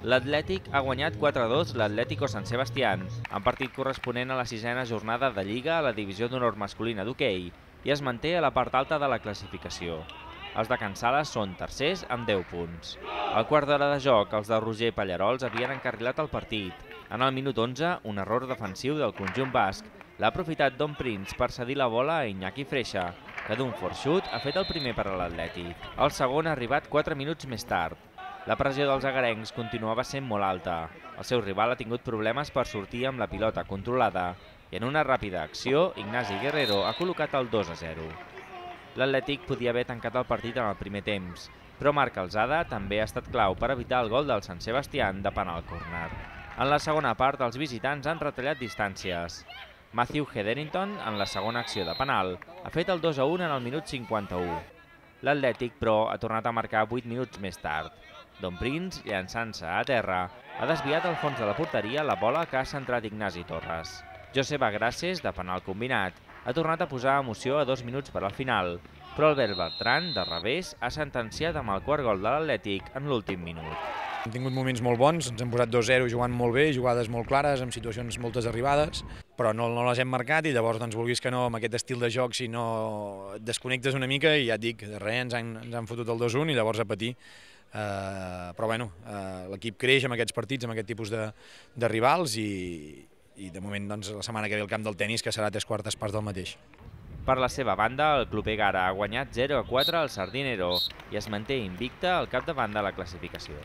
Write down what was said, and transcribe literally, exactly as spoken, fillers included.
L'Atlètic ha guanyat quatre a dos l'Atlético San Sebastián, en partit corresponent a la sisena jornada de Lliga a la divisió d'honor masculina d'hoquei, i es manté a la part alta de la classificació. Els de Can Sales són tercers amb deu punts. Al quart d'hora de joc, els de Roger Pallarols havien encarrilat el partit. En el minut onze, un error defensiu del conjunt basc l'ha aprofitat Don Prince per cedir la bola a Iñaki Freixa, que d'un forçut ha fet el primer per a l'Atlètic. El segon ha arribat quatre minuts més tard. La pressió dels agarencs continuava sent molt alta. El seu rival ha tingut problemes per sortir amb la pilota controlada i en una ràpida acció, Ignasi Guerrero ha col·locat el dos a zero. L'Atlètic podia haver tancat el partit en el primer temps, però Marc Alzada també ha estat clau per evitar el gol del Sant Sebastián de penal córner. En la segona part, els visitants han retallat distàncies. Matthew Hetherington, en la segona acció de penal, ha fet el dos a un en el minut cinquanta-u. L'Atlètic, però, ha tornat a marcar vuit minuts més tard. Don Prince, llançant-se a terra, ha desviat al fons de la porteria la bola que ha centrat Ignasi Torres. Josep Agraces, de penal combinat, ha tornat a posar emoció a dos minuts per al final, però Albert Bertran, de revés, ha sentenciat amb el quart gol de l'Atlètic en l'últim minut. Hem tingut moments molt bons, ens hem posat dos a zero jugant molt bé, jugades molt clares, amb situacions moltes arribades, però no, no les hem marcat i llavors, doncs, vulguis que no, amb aquest estil de joc, si no et desconnectes una mica i ja et dic, de res, ens han, ens han fotut el dos a un i llavors a patir. Uh, però bueno, uh, l'equip creix amb aquests partits, amb aquest tipus de, de rivals i, i de moment doncs, la setmana que ve el camp del tenis, que serà tres quartes parts del mateix. Per la seva banda, el club Egara ha guanyat zero a quatre al Sardinero i es manté invicte al capdavant de la classificació.